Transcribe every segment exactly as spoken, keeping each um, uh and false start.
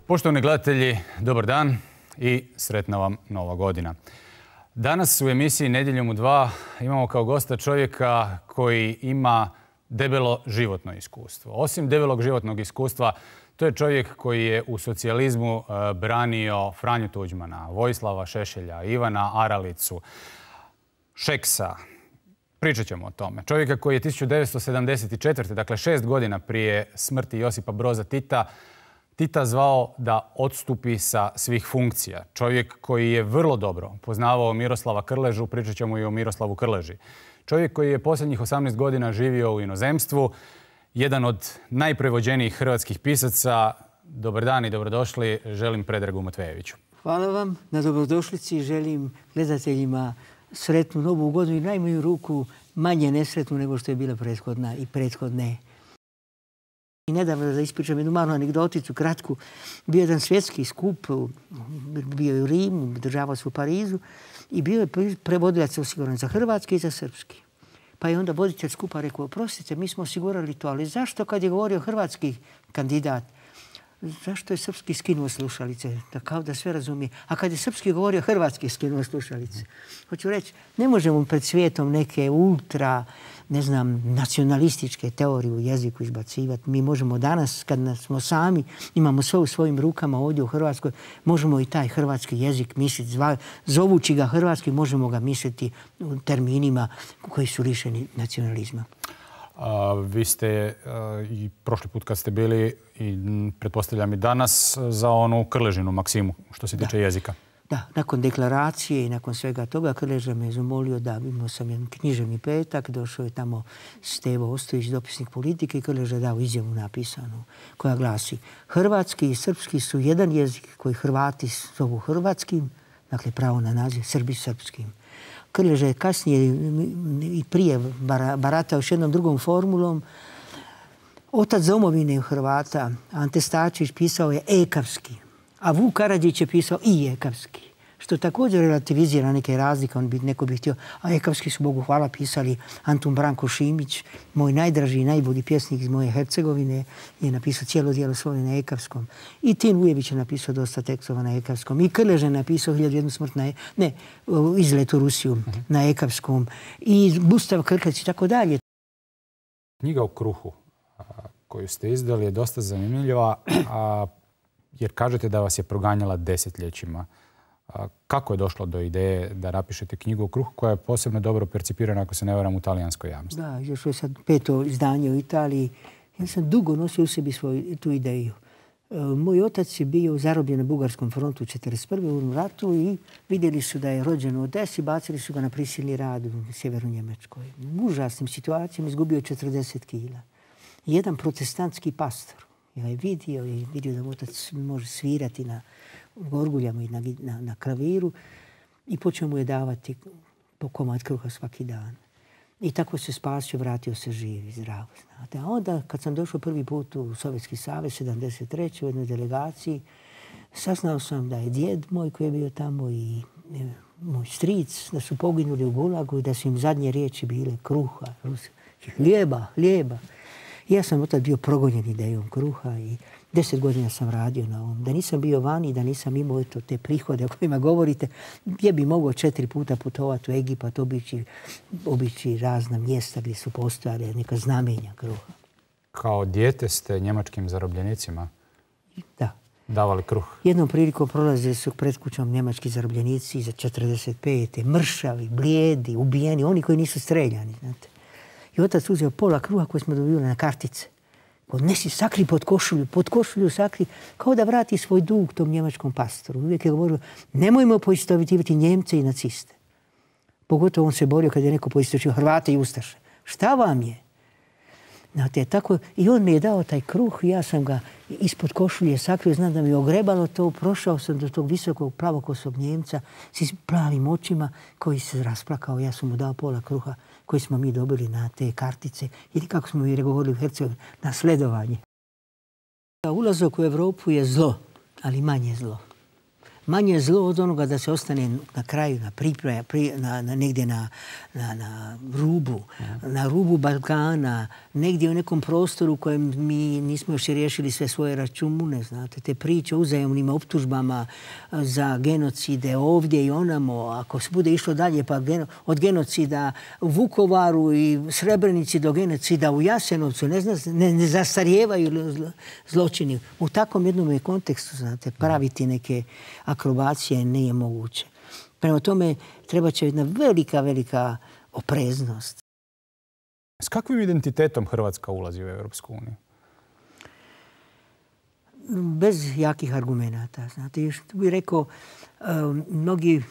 Poštovani gledatelji, dobar dan i sretna vam Nova godina. Danas u emisiji Nedjeljom u dva imamo kao gosta čovjeka koji ima debelo životno iskustvo. Osim debelog životnog iskustva, to je čovjek koji je u socijalizmu branio Franju Tuđmana, Vojislava Šešelja, Ivana Aralicu, Šeksa. Pričat ćemo o tome. Čovjeka koji je tisuću devetsto sedamdeset četvrte. dakle šest godina prije smrti Josipa Broza Tita, Tita zvao da odstupi sa svih funkcija. Čovjek koji je vrlo dobro poznavao Miroslava Krležu, pričat ćemo i o Miroslavu Krleži. Čovjek koji je posljednjih osamnaest godina živio u inozemstvu, jedan od najprevođenijih hrvatskih pisaca. Dobar dan i dobrodošli, želim Predragu Matvejeviću. Hvala vam na dobrodošlici, želim gledateljima sretnu novu godinu i najmanju ruku manje nesretnu nego što je bila prethodna i prethodne. I nedavno, da ispričam jednu malu anegdoticu, kratku, bio jedan svjetski skup, bio je u Rimu, državao se u Parizu i bio je prevodilac osiguran za hrvatski i za srpski. Pa je onda voditelj skupa rekao, oprostite, mi smo osigurali to, ali zašto kad je govorio hrvatski kandidat, zašto je srpski skinuo slušalice? Da kao da sve razumije. A kad je srpski govorio, hrvatski skinuo slušalice. Hoću reći, ne možemo pred svijetom neke ultra, ne znam, nacionalističke teorije u jeziku izbacivati. Mi možemo danas, kad smo sami, imamo sve u svojim rukama ovdje u Hrvatskoj, možemo i taj hrvatski jezik misliti, zovući ga hrvatski, možemo ga misliti u terminima koji su lišeni nacionalizma. A, vi ste a, i prošli put kad ste bili i pretpostavljam i danas za onu Krležinu maksimu što se tiče da. jezika. Da, nakon deklaracije i nakon svega toga Krleža me je zamolio da imao sam jedan književni petak, došao je tamo Stevo Ostojić, dopisnik politike i Krleža dao izjavu napisanu koja glasi: hrvatski i srpski su jedan jezik koji Hrvati zovu hrvatskim, dakle pravo na naziv, Srbi srpskim. Krleža je kasnije i prije baratao još jednom drugom formulom. Otac domovine Hrvata, Ante Starčević, pisao je ekavski, a Vuk Karadžić je pisao i ekavski, što također relativizira neke razlike. On bi, neko bi htio, a ekavski su, Bogu hvala, pisali Antun Branko Šimić, moj najdraži i najbolji pjesnik iz moje Hercegovine, je napisao cijelo djelo svoje na ekavskom. I Tin Ujević je napisao dosta tekstova na ekavskom. I Krleža je napisao Hiljadu i jednu smrt na, ne, Izlet u Rusiju uh-huh. na ekavskom. I Gustav Krklec i tako dalje. Knjiga o kruhu koju ste izdali je dosta zanimljiva, a jer kažete da vas je proganjala desetljećima. Kako je došlo do ideje da napišete knjigu o kruhu koja je posebno dobro percipirana, ako se ne varam, u talijanskoj javnosti? Da, još je sad peto izdanje u Italiji. Ja sam dugo nosio u sebi svoju tu ideju. Moj otac je bio zarobljen na Bugarskom frontu u četrdeset prve u ratu i vidjeli su da je rođen u Odesi, bacili su ga na prisilni rad u sjevernu Njemačkoj. U užasnim situacijama izgubio četrdeset kila. Jedan protestantski pastor ja je vidio i vidio da otac može svirati na gorguljama i na, na, na klaviru i počeo mu je davati po komad kruha svaki dan. I tako se spasio, vratio se živ i zdrav. Znate. A onda kad sam došao prvi put u Sovjetski savez, sedamdeset treće u jednoj delegaciji, saznao sam da je djed moj koji je bio tamo i e, moj stric, da su poginuli u Gulagu i da su im zadnje riječi bile kruha, hljeba, hljeba. Ja sam od tada bio progonjen idejom kruha i deset godina sam radio na ovom. Da nisam bio vani, da nisam imao eto, te prihode o kojima govorite, gdje bi mogao četiri puta putovati u Egipat, obići, obići razna mjesta gdje su postojale neka znamenja kruha. Kao dijete ste njemačkim zarobljenicima da. davali kruh? Jednom prilikom prolazili su pred kućom njemački zarobljenici za četrdeset pete mršavi, blijedi, ubijeni, oni koji nisu streljani, znate. I otac uzeo pola kruha koje smo dobili na kartice. Odnesi, sakri pod košulju, pod košulju sakri, kao da vrati svoj dug tom njemačkom pastoru. Uvijek je govorio, nemojmo poistovjećivati Njemce i naciste. Pogotovo on se borio kad je neko poistovjećivao Hrvate i Ustaše. Šta vam je? Znate, tako, i on mi je dao taj kruh, ja sam ga ispod košulje sakrio, znam da mi je ogrebalo to, prošao sam do tog visokog plavokosog Njemca s plavim očima koji se rasplakao, ja sam mu dao pola kruha koji smo mi dobili na te kartice ili kako smo mi govorili u Hercegovini, na sledovanje. Ulazak u Evropu je zlo, ali manje zlo. manje zlo od onoga da se ostane na kraju, na priprema, na, na, negdje na, na, na rubu, na rubu Balkana, negdje u nekom prostoru u kojem mi nismo još riješili sve svoje račune, znate, te priče o uzajamnim optužbama za genocide ovdje i onamo, ako se bude išlo dalje, pa geno, od genocida u Vukovaru i Srebrenici do genocida u Jasenovcu, ne, zna, ne, ne zastarijevaju zločini. U takvom jednom kontekstu, znate, praviti neke akrobacije nije moguće. Prema tome, treba će jedna velika, velika opreznost. S kakvim identitetom Hrvatska ulazi u Europsku uniju? Bez jakih argumenata. Znate, još bih rekao, mnogi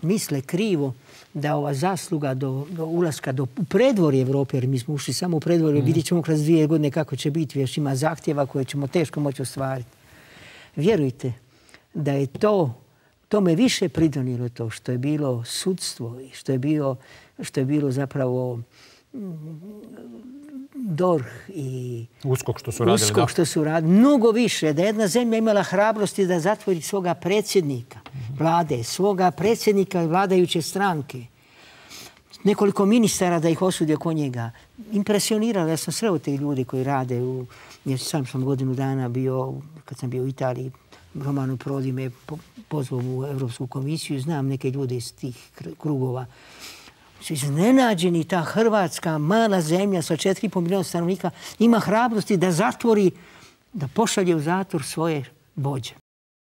misle krivo da ova zasluga do, do ulaska do predvorje Evrope, jer mi smo ušli samo u predvorje, mm. vidjet ćemo kroz dvije godine kako će biti, još ima zahtjeva koje ćemo teško moći ostvariti. Vjerujte da je to, tome više pridonijelo to što je bilo sudstvo i što je bilo, što je bilo zapravo D O R H i Uskok što su radili. Uskok što su radili. Mnogo više. Da jedna zemlja imala hrabrosti da zatvori svoga predsjednika vlade, svoga predsjednika vladajuće stranke. Nekoliko ministara da ih osudi oko njega. Impresioniralo. Ja sam sreo te ljudi koji rade. U, jer sam sam godinu dana bio, kad sam bio u Italiji, Romano Prodi me pozvao u Europsku komisiju. Znam neke ljude iz tih krugova. Su iznenađeni, ta Hrvatska mala zemlja sa četiri i pol milijuna stanovnika ima hrabrosti da zatvori, da pošalje u zatvor svoje vođe.